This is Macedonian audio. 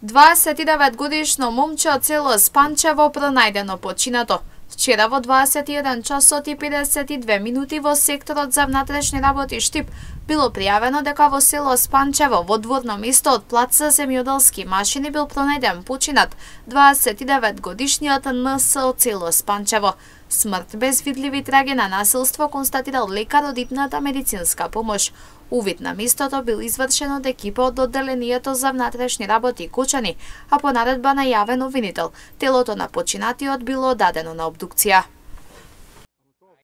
29-годишно момче од село Спанчево пронајдено починато. Вчера во 21 часот и 52 минути во секторот за внатрешни работи Штип било пријавено дека во село Спанчево во дворно место од плац за земјоделски машини бил пронајден починат 29-годишниот НС од село Спанчево. Смрт без видливи траги на насилство констатирал лекар од итната медицинска помош. Увид на местото бил извршен од екипа од одделението за внатрешни работи Кочани, а по наредба на јавен обвинител, телото на починатиот било дадено на обдукција.